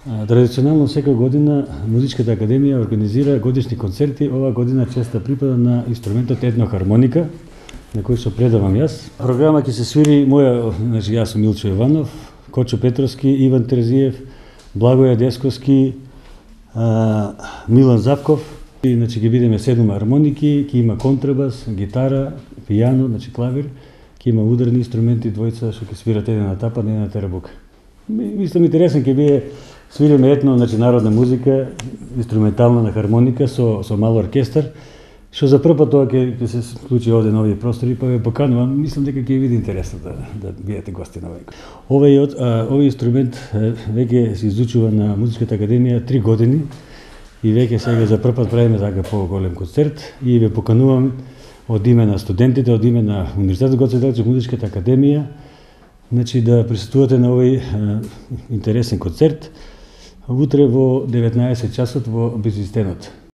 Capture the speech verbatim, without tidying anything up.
Традиционално секоја година Музичката академија организира годишни концерти. Ова година честа припада на инструментот етнохармоника, на кој што предавам јас. Програма ќе се свири моја, значи јас сум Милчо Јованов, Кочо Петровски, Иван Терзиев, Благоја Десковски, а, Милан Запков. И, значи ќе бидеме седум хармоники, ќе има контрабас, гитара, пијано, значи клавир, ќе има ударни инструменти, двојца што ќе свират еден на тапан, еден на терабука. Мислам интересен ќе биде, свириме етно, значи народна музика, инструментална на хармоника со со мал оркестар, што за прв пат тоа ќе ќе се случи овде на овие простори, па ве поканувам, мислам дека ќе биде интересно да да бидете гости на овој. Овој овој инструмент веќе се изучува на Музичката академија три години и веќе сега за прв пат правиме така поголем концерт и ве поканувам од име на студентите, од име на Универзитетот Гоце Делчев, Музичката академија, значи да присуствувате на овој интересен концерт утре во деветнаесет часот во Бизнистенот.